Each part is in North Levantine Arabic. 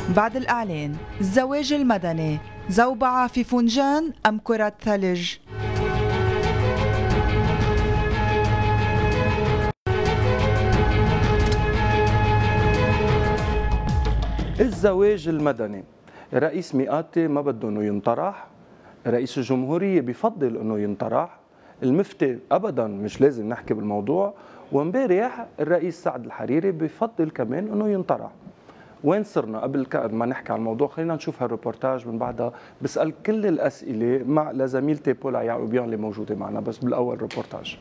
بعد الإعلان الزواج المدني زوبعة في فنجان أم كرة ثلج؟ الزواج المدني، رئيس مئاتي ما بده انه ينطرح، رئيس الجمهورية بفضل انه ينطرح، المفتي ابدا مش لازم نحكي بالموضوع، وامبارح الرئيس سعد الحريري بفضل كمان انه ينطرح. وين صرنا قبل ما نحكي عن الموضوع؟ خلينا نشوف هالريبورتاج من بعدها بسأل كل الأسئلة مع لزميلتي بولا يعقوبيان اللي موجودة معنا. بس بالأول ريبورتاج.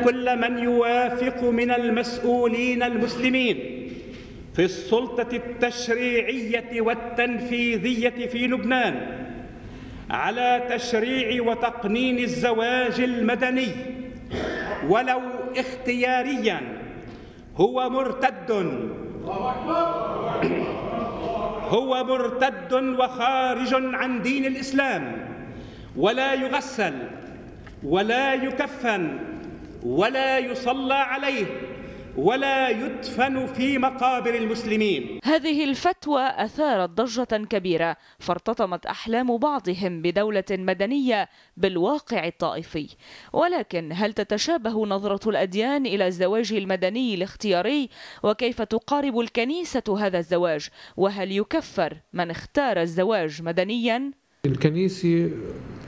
كل من يوافق من المسؤولين المسلمين في السلطة التشريعية والتنفيذية في لبنان على تشريع وتقنين الزواج المدني ولو اختياريا هو مرتد وخارج عن دين الإسلام، ولا يغسل ولا يكفن ولا يصلى عليه ولا يدفن في مقابر المسلمين. هذه الفتوى أثارت ضجة كبيرة، فارتطمت أحلام بعضهم بدولة مدنية بالواقع الطائفي. ولكن هل تتشابه نظرة الأديان إلى الزواج المدني الاختياري؟ وكيف تقارب الكنيسة هذا الزواج؟ وهل يكفر من اختار الزواج مدنيا؟ الكنيسة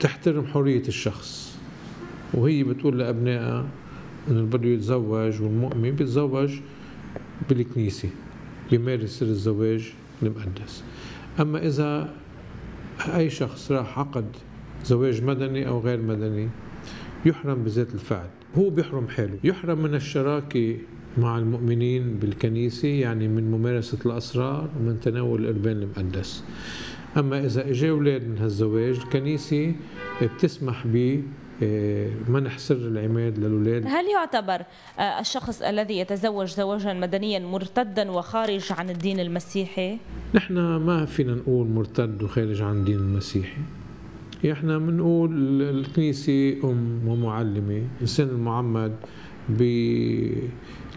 تحترم حرية الشخص، وهي بتقول لأبنائها إنه اللي بده يتزوج والمؤمن بيتزوج بالكنيسة، بيمارس سر الزواج المقدس. أما إذا أي شخص راح عقد زواج مدني أو غير مدني يحرم بذات الفعل، هو بيحرم حاله، يحرم من الشراكة مع المؤمنين بالكنيسة، يعني من ممارسة الأسرار ومن تناول القربان المقدس. أما إذا إجا أولاد من هالزواج الكنيسة بتسمح بمنح سر العماد للأولاد. هل يعتبر الشخص الذي يتزوج زواجا مدنيا مرتدا وخارج عن الدين المسيحي؟ نحن ما فينا نقول مرتد وخارج عن الدين المسيحي، احنا بنقول الكنيسة أم ومعلمة. الإنسان المعمد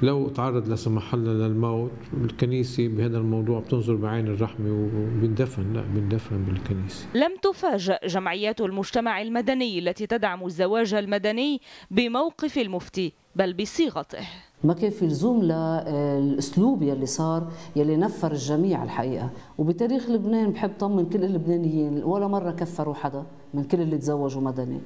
لو تعرض لا سمح الله للموت، الكنيسة بهذا الموضوع بتنظر بعين الرحمة وبندفن بالكنيسة. لم تفاجأ جمعيات المجتمع المدني التي تدعم الزواج المدني بموقف المفتي، بل بصيغته. ما كان في لزوم للاسلوب يلي صار، يلي نفر الجميع الحقيقه. وبتاريخ لبنان بحب طمن كل اللبنانيين، ولا مره كفروا حدا من كل اللي تزوجوا مدني،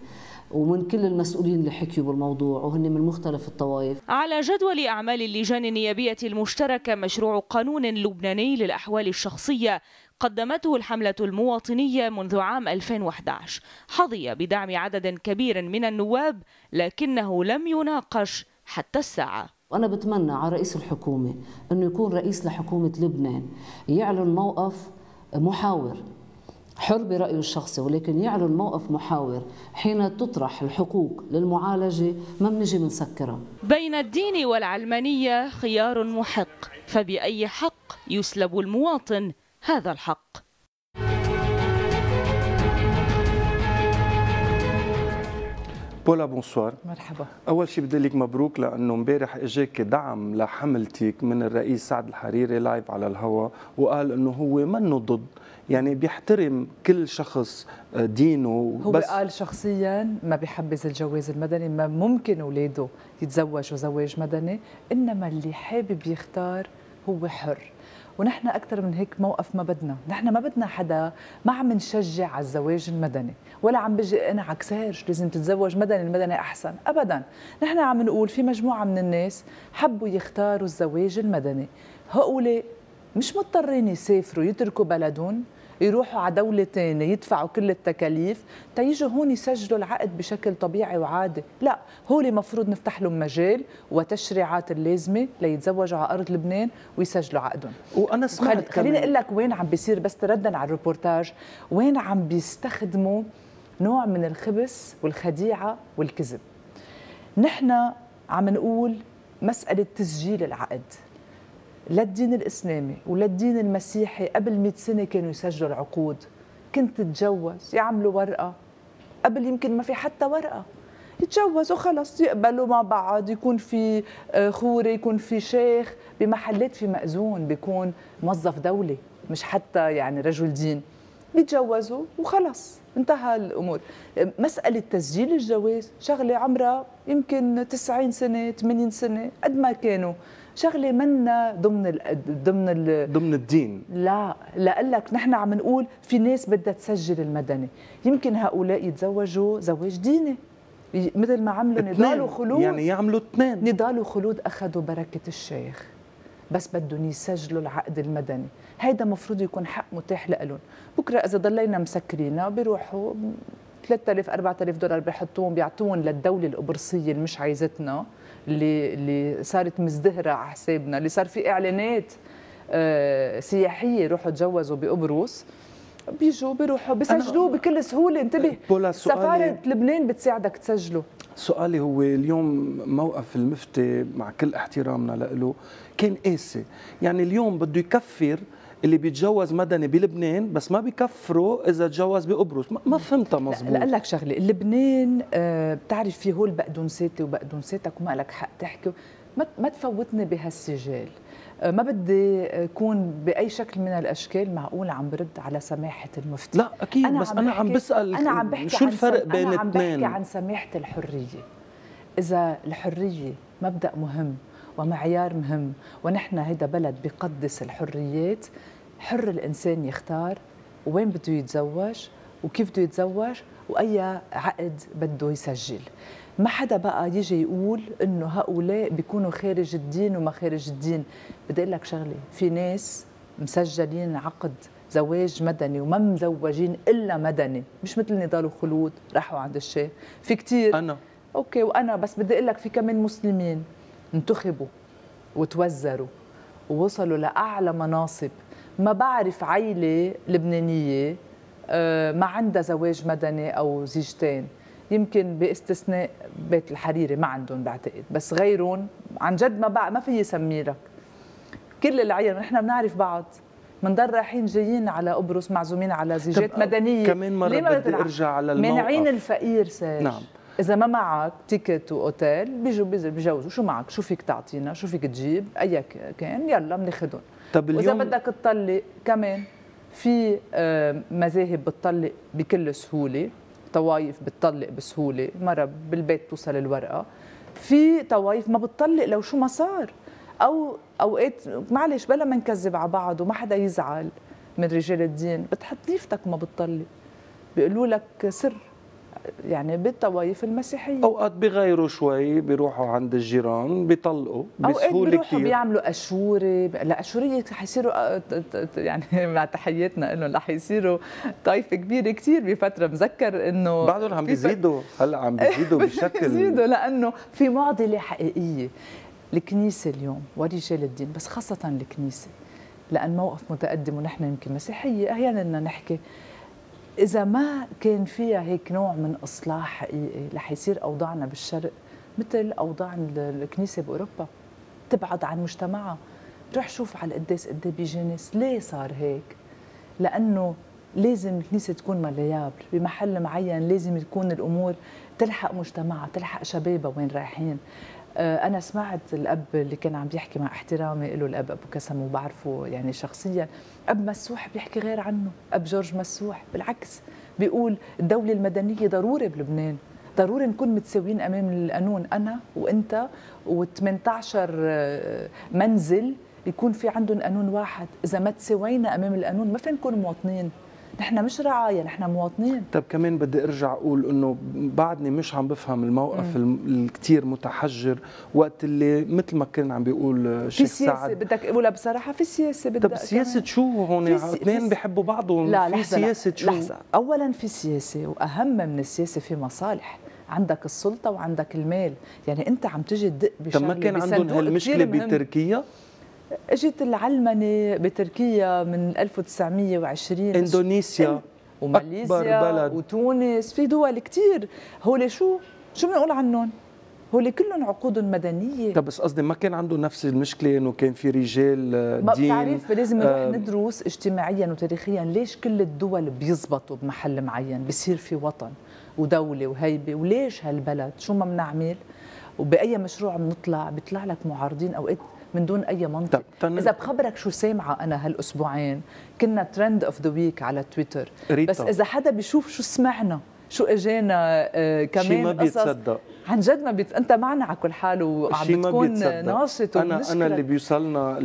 ومن كل المسؤولين اللي حكيوا بالموضوع، وهن من مختلف الطوائف. على جدول أعمال اللجان النيابية المشتركة مشروع قانون لبناني للأحوال الشخصية قدمته الحملة المواطنية منذ عام 2011. حظي بدعم عدد كبير من النواب، لكنه لم يناقش حتى الساعة. وأنا بتمنى على رئيس الحكومة أنه يكون رئيس لحكومة لبنان، يعلن موقف محاور حر برأيه الشخصي، ولكن يعلن موقف محاور حين تطرح الحقوق للمعالجة. ما بنجي بنسكرها. بين الدين والعلمانية خيار محق، فبأي حق يسلب المواطن هذا الحق؟ بولا بونسوار. مرحبا. أول شيء بدي لك مبروك، لأنه امبارح إجاك دعم لحملتك من الرئيس سعد الحريري لايف على الهواء، وقال إنه هو منه ضد، يعني بيحترم كل شخص دينه. هو بس قال شخصيا ما بيحبذ الجواز المدني، ما ممكن أولاده يتزوجوا زواج مدني، إنما اللي حابب يختار هو حر. ونحن أكثر من هيك موقف ما بدنا، نحن ما بدنا حدا، ما عم نشجع على الزواج المدني، ولا عم بجي أنا عكسارش لازم تتزوج مدني، المدني أحسن، أبدا. نحن عم نقول في مجموعة من الناس حبوا يختاروا الزواج المدني، هؤلاء مش مضطرين يسافروا يتركوا بلدهم يروحوا على دولة ثانية يدفعوا كل التكاليف تيجوا هون يسجلوا العقد بشكل طبيعي وعادي. لا، هو مفروض نفتح لهم مجال وتشريعات اللازمة ليتزوجوا على أرض لبنان ويسجلوا عقدهم. وأنا سمعت خليني أقول لك وين عم بيصير، بس تردن على الريبورتاج، وين عم بيستخدموا نوع من الخبث والخديعة والكذب. نحن عم نقول مسألة تسجيل العقد، لا الدين الإسلامي ولا الدين المسيحي قبل 100 سنة كانوا يسجلوا العقود. كنت تتجوز يعملوا ورقة، قبل يمكن ما في حتى ورقة، يتجوزوا خلص، يقبلوا مع بعض، يكون في خوري، يكون في شيخ. بمحلات في مأذون بيكون موظف دولي مش حتى يعني رجل دين، بيتجوزوا وخلص انتهى الامور. مساله تسجيل الجواز شغله عمرها يمكن 90 سنه 80 سنه قد ما كانوا، شغله منا ضمن الدين. لا لك نحن عم نقول في ناس بدها تسجل المدني، يمكن هؤلاء يتزوجوا زواج ديني مثل ما عملوا نضال وخلود، يعني يعملوا اثنين. نضال وخلود اخذوا بركه الشيخ بس بدهم يسجلوا العقد المدني، هيدا مفروض يكون حق متاح لهم. بكره اذا ضلينا مسكرينها بيروحوا 3000 4000 دولار بيحطوهم بيعطوهم للدوله القبرصيه اللي مش عايزتنا، اللي صارت مزدهره على حسابنا، اللي صار في اعلانات سياحيه يروحوا يتجوزوا بقبرص، بيجوا بيروحوا بيسجلوه بكل سهوله. انتبه، سفاره لبنان بتساعدك تسجله. سؤالي هو اليوم موقف المفتي مع كل احترامنا له كان قاسي، يعني اليوم بده يكفر اللي بيتجوز مدني بلبنان بس ما بيكفروا اذا تجوز بقبرص. ما فهمتها مزبوط. لا لك شغله، لبنان بتعرف في هول بقدونساتي وبقدونساتك وما لك حق تحكي، ما تفوتني بهالسجال. ما بدي اكون باي شكل من الاشكال معقول عم برد على سماحه المفتي. لا اكيد، بس انا عم بسال شو الفرق بين الاثنين. انا عم بحكي عن سماحه الحريه. اذا الحريه مبدا مهم ومعيار مهم، ونحن هيدا بلد بقدس الحريات، حر الانسان يختار وين بده يتزوج وكيف بده يتزوج واي عقد بده يسجل. ما حدا بقى يجي يقول انه هؤلاء بيكونوا خارج الدين وما خارج الدين. بدي اقول لك شغله، في ناس مسجلين عقد زواج مدني وما مزوجين الا مدني، مش مثل نضال وخلود راحوا عند الشيخ. في كثير انا اوكي وانا، بس بدي اقول لك في كمان مسلمين انتخبوا وتوزروا ووصلوا لاعلى مناصب. ما بعرف عائله لبنانيه ما عندها زواج مدني او زيجتين، يمكن باستثناء بيت الحريري ما عندهم بعتقد، بس غيرهم عن جد ما في يسمي لك. كل العيال نحن بنعرف بعض، بنضل رايحين جايين على قبرص معزومين على زيجات مدنيه. كمان مره بدي ارجع على الموقف، مانعين الفقير ساج. نعم، اذا ما معك تيكت واوتيل بيجوا بيجوزوا، شو معك، شو فيك تعطينا، شو فيك تجيب، اي كان يلا بناخذهم. طب اليوم واذا بدك تطلق كمان في مذاهب بتطلق بكل سهوله، طوايف بتطلق بسهوله، مره بالبيت توصل الورقه. في طوايف ما بتطلق لو شو ما صار، او اوقات معلش بلا ما نكذب على بعض وما حدا يزعل من رجال الدين، بتحط نيفتك ما بتطلق، بيقولوا لك سر، يعني بالطوايف المسيحيه. اوقات بيغيروا شوي، بيروحوا عند الجيران بيطلقوا بسهوله كثير، بيعملوا اشوره. لا اشوريه حيصيروا يعني مع تحياتنا لهم رح يصيروا طائفه كبيره كثير بفتره. مذكر انه بعدهم عم بيزيدوا، هلا عم بيزيدوا بشكل بيزيدوا، لانه في معضله حقيقيه. الكنيسه اليوم ورجال الدين، بس خاصه الكنيسه لان موقف متقدم ونحن يمكن مسيحيه احيانا بدنا نحكي، إذا ما كان فيها هيك نوع من إصلاح حقيقي رح يصير أوضاعنا بالشرق مثل أوضاع الكنيسة بأوروبا، تبعد عن مجتمعها. روح شوف على القداس قد ايه بيجي ناس. ليه صار هيك؟ لأنه لازم الكنيسة تكون مليابر بمحل معين، لازم تكون الأمور تلحق مجتمعها، تلحق شبابها وين رايحين. أنا سمعت الأب اللي كان عم بيحكي، مع احترامي له الأب أبو كسم وبعرفه يعني شخصيا، أب مسوح بيحكي غير عنه. أب جورج مسوح بالعكس بيقول الدولة المدنية ضروري بلبنان، ضروري نكون متساويين أمام القانون، أنا وأنت و18 منزل يكون في عندهم قانون واحد. إذا ما تساوينا أمام القانون ما فين نكون مواطنين. نحن مش رعايا، نحن مواطنين. طب كمان بدي ارجع اقول انه بعدني مش عم بفهم الموقف الكثير متحجر وقت اللي مثل ما كان عم بيقول شيخ سعد. بدك اقولها بصراحه، في سياسه. بدك طب سياسه شو هون؟ اثنين بيحبوا بعضهم. لا في سياسه شو؟ لحظه، اولا في سياسه، واهم من السياسه في مصالح. عندك السلطه وعندك المال، يعني انت عم تجي تدق بشغله. طب ما كان عندهم هالمشكله بتركيا؟ اجت العلمنه بتركيا من 1920، اندونيسيا وماليزيا وتونس، في دول كثير. هول شو بنقول عنهم؟ هول كلهم عقود مدنيه. طب بس قصدي ما كان عنده نفس المشكله انه كان في رجال دين؟ بتعرف لازم نروح ندرس اجتماعيا وتاريخيا ليش كل الدول بيزبطوا بمحل معين، بصير في وطن ودولة وهيبة، وليش هالبلد؟ شو ما بنعمل؟ وبأي مشروع بنطلع بيطلع لك معارضين أوقات من دون أي منطق. إذا بخبرك شو سامعة أنا هالأسبوعين، كنا ترند اوف ذا ويك على تويتر، بس إذا حدا بيشوف شو سمعنا، شو اجانا كمان شي ما بيتصدق عن جد ما أنت معنا على كل حال وعم بتكون ناشط. أنا اللي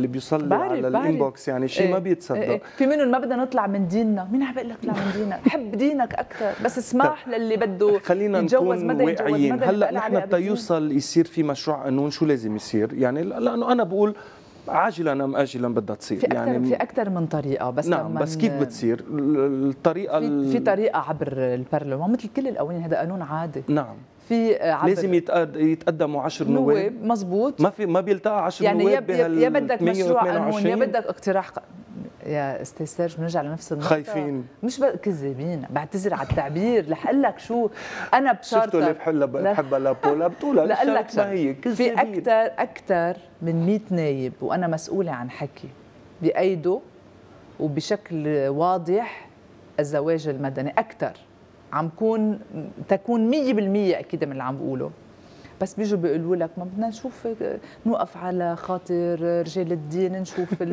بيوصل لي على الانبوكس يعني شيء ما بيتصدق. في منهم ما بدنا نطلع من ديننا، مين عم بيقول لك اطلع من دينك؟ حب دينك أكثر، بس اسمح للي بده خلينا يتجوز نكون مدى واقعيين. هلا نحن تيوصل يصير في مشروع قانون شو لازم يصير؟ يعني لأنه أنا بقول عاجلا ام اجلا بدها تصير، في اكثر من طريقه، بس نعم بس كيف بتصير الطريقه؟ في طريقه عبر البرلمان مثل كل القوانين، هذا قانون عادي. نعم في عبر لازم يتقدموا 10 نواب. مزبوط، ما بيلتقى 10 يعني نواب يا بدك مشروع قانون يا بدك اقتراح يا استاذ سيرج بنرجع لنفس النقطه. خايفين مش كذابين، بعتذر على التعبير. رح اقول لك شو انا بشارتك. شفتوا اللي بحبها لبولا بتقولها لا لك ما هي كذابين. في اكثر من 100 نايب وانا مسؤوله عن حكي بايده وبشكل واضح الزواج المدني، اكثر عم تكون 100% اكيد من اللي عم بقوله، بس بيجوا بيقولوا لك ما بدنا نشوف نوقف على خاطر رجال الدين، نشوف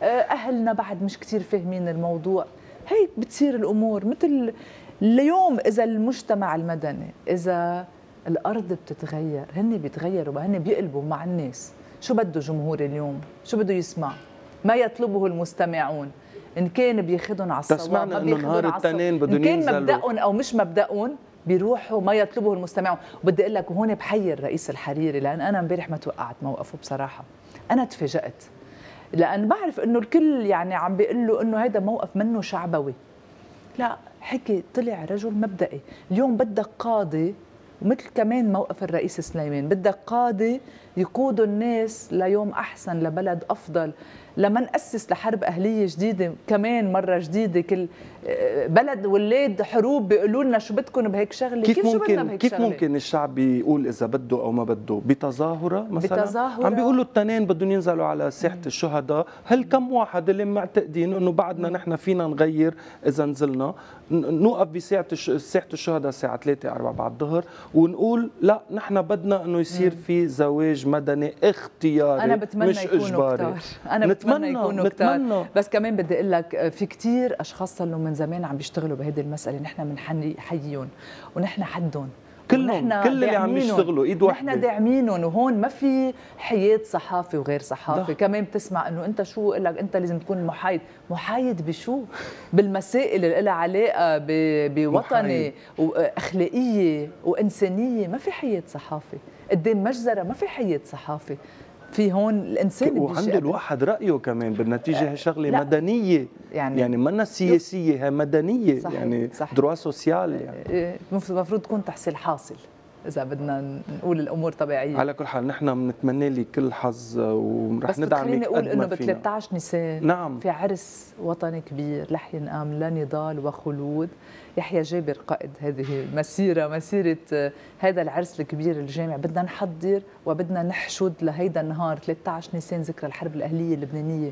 اهلنا بعد مش كثير فاهمين الموضوع. هيك بتصير الامور. مثل اليوم اذا المجتمع المدني، اذا الارض بتتغير، هن بيتغيروا، هن بيقلبوا مع الناس. شو بده جمهور اليوم؟ شو بده يسمع؟ ما يطلبه المستمعون، ان كان بياخذهم على الصواب، ما بياخذهم على الصواب، ان كان مبدأهم او مش مبدأهم بيروحوا ما يطلبه المستمعون. وبدي اقول لك وهون بحيي الرئيس الحريري، لان انا امبارح ما توقعت موقفه بصراحه، انا تفاجأت، لان بعرف انه الكل يعني عم بيقول له انه هيدا موقف منه شعبوي. لا، حكي طلع رجل مبدئي. اليوم بدك قاضي، ومثل كمان موقف الرئيس سليمان، بدك قاضي يقودوا الناس ليوم احسن، لبلد افضل، لما نأسس لحرب أهلية جديدة كمان مرة جديدة. كل بلد ولاد حروب بيقولوا لنا شو بدكم بهيك شغلة. كيف ممكن الشعب يقول إذا بده أو ما بده؟ بتظاهرة مثلا؟ بتظاهرة. عم بيقولوا التنين بدهم ينزلوا على ساحة الشهداء. هل كم واحد اللي معتقدين إنه بعدنا نحن فينا نغير إذا نزلنا نوقف بساحة الشهداء الساعة 3 4 بعد الظهر ونقول لا نحن بدنا إنه يصير في زواج مدني اختياري، أنا بتمنى مش إجباري. أنا بتمنى يكونوا كتار. بس كمان بدي اقول لك في كثير اشخاص صار لهم من زمان عم بيشتغلوا بهيدي المساله، نحن بنحييهم ونحن حدهم، كلهم كل اللي عم يشتغلوا ايد واحده، نحن داعمينهم. وهون ما في حياد صحافي وغير صحافي. كمان بتسمع انه انت شو قال لك انت لازم تكون محايد بشو؟ بالمسائل اللي لها علاقه بوطني واخلاقيه وانسانيه. ما في حياد صحافي قدام مجزره، ما في حياد صحافي. في هون الانسان وعنده الواحد رايه كمان بالنتيجه. هي شغله مدنيه، يعني منا سياسيه، هي مدنيه. صحيح. يعني دروا سوسيال، يعني المفروض تكون تحصيل حاصل اذا بدنا نقول الامور طبيعيه. على كل حال نحن بنتمنى لك كل حظ ورح ندعمك. بس خليني اقول انه ب 13 نيسان نعم في عرس وطني كبير، لح ينقام لا نضال وخلود. يحيى جابر قائد هذه مسيره هذا العرس الكبير الجامع. بدنا نحضر وبدنا نحشد لهيدا النهار 13 نيسان ذكرى الحرب الاهليه اللبنانيه.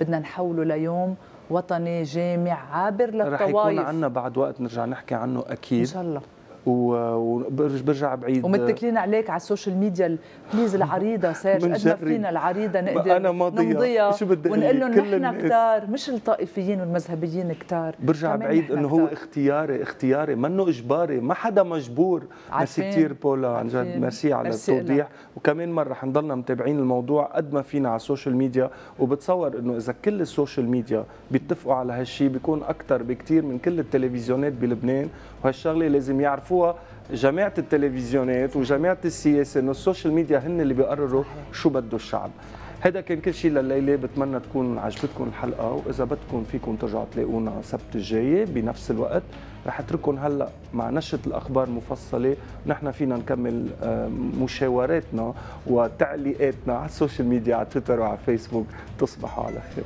بدنا نحوله ليوم وطني جامع عابر للطوائف. رح يكون عنا بعد وقت نرجع نحكي عنه اكيد ان شاء الله. وبرجع بعيد ومتكلين عليك على السوشيال ميديا. بليز العريضه سيرج قد ما فينا العريضه نقدر نمضيها ونقول لهم نحن كتار، مش الطائفيين والمذهبيين كتار. برجع بعيد انه هو اختياري منه اجباري، ما حدا مجبور. ميرسي كثير بولا، عن جد ميرسي على التوضيح. وكمان مره حنضلنا متابعين الموضوع قد ما فينا على السوشيال ميديا، وبتصور انه اذا كل السوشيال ميديا بيتفقوا على هالشيء بيكون اكثر بكثير من كل التلفزيونات بلبنان. وهالشغله لازم يعرفوها جماعة التلفزيونات وجماعة السياسة، انه السوشيال ميديا هن اللي بيقرروا شو بده الشعب. هذا كان كل شيء لليلة. بتمنى تكون عجبتكم الحلقة، واذا بدكم فيكم ترجعوا تلاقونا السبت الجاي بنفس الوقت. رح اترككم هلا مع نشرة الاخبار مفصلة، ونحن فينا نكمل مشاوراتنا وتعليقاتنا على السوشيال ميديا، على تويتر وعلى فيسبوك. تصبحوا على خير.